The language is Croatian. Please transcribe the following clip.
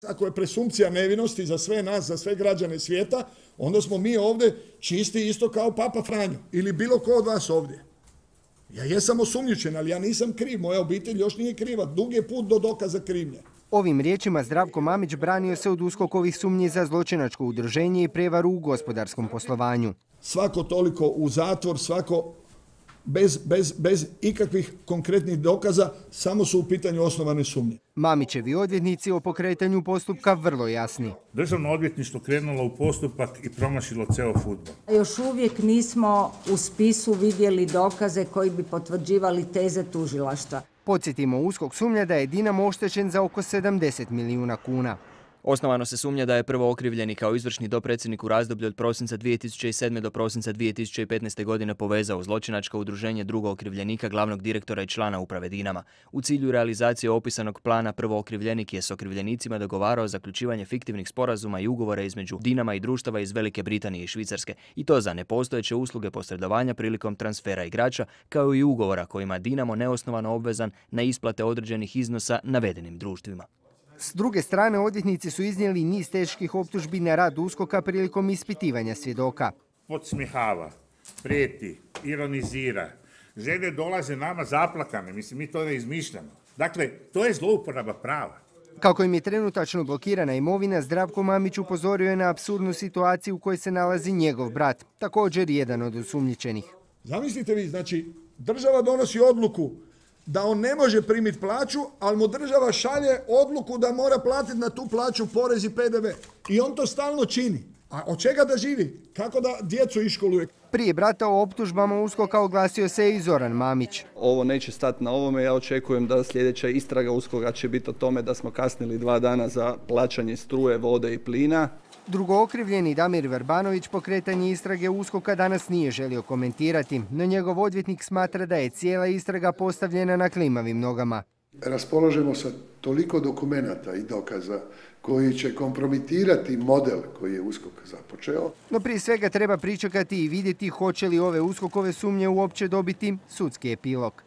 Ako je presumpcija nevinosti za sve nas, za sve građane svijeta, onda smo mi ovdje čisti isto kao Papa Franjo ili bilo ko od vas ovdje. Ja jesam osumnjičen, ali ja nisam kriv, moja obitelj još nije kriva, dug je put do dokaza krivnje. Ovim riječima Zdravko Mamić branio se od USKOK-ovih sumnji za zločinačko udruženje i prevaru u gospodarskom poslovanju. Svako toliko u zatvor, svako bez ikakvih konkretnih dokaza, samo su u pitanju osnovane sumnje. Mamićevi odvjetnici o pokretanju postupka vrlo jasni. Državno odvjetništvo krenulo u postupak i promašilo ceo fudbal. Još uvijek nismo u spisu vidjeli dokaze koji bi potvrđivali teze tužilaštva. Podsjetimo, USKOK sumnja da je Dinamo oštećen za oko 70 milijuna kuna. Osnovano se sumnja da je prvo okrivljeni kao izvršni dopredsjednik u razdoblju od prosinca 2007. do prosinca 2015. godine povezao zločinačko udruženje drugog okrivljenika, glavnog direktora i člana uprave Dinama. U cilju realizacije opisanog plana prvo okrivljenik je s okrivljenicima dogovarao zaključivanje fiktivnih sporazuma i ugovora između Dinama i društava iz Velike Britanije i Švicarske, i to za nepostojeće usluge posredovanja prilikom transfera igrača, kao i ugovora kojima Dinamo neosnovano obvezan na isplate određenih iznosa navedenim društvima. S druge strane, odvjetnici su iznijeli niz teških optužbi na rad USKOK-a prilikom ispitivanja svjedoka. Podsmihava, prijeti, ironizira. Žene dolaze nama zaplakane, mislim, mi to ne izmišljamo. Dakle, to je zlouporaba prava. Kako im je trenutačno blokirana imovina, Zdravko Mamić upozorio je na apsurdnu situaciju u kojoj se nalazi njegov brat, također jedan od osumnjičenih. Zamislite vi, znači, država donosi odluku da on ne može primiti plaću, ali mu država šalje odluku da mora platiti na tu plaću porez i PDV. I on to stalno čini. A od čega da živi? Kako da djecu iškoluje? Prije brata o optužbama USKOK-a oglasio se i Zoran Mamić. Ovo neće stati na ovome, ja očekujem da sljedeća istraga USKOK-a će biti o tome da smo kasnili 2 dana za plaćanje struje, vode i plina. Drugookrivljeni Damir Verbanović pokretanje istrage USKOK-a danas nije želio komentirati, no njegov odvjetnik smatra da je cijela istraga postavljena na klimavim nogama. Raspolažemo sa toliko dokumenata i dokaza koji će kompromitirati model koji je USKOK započeo. No prije svega treba pričekati i vidjeti hoće li ove USKOK-ove sumnje uopće dobiti sudski epilog.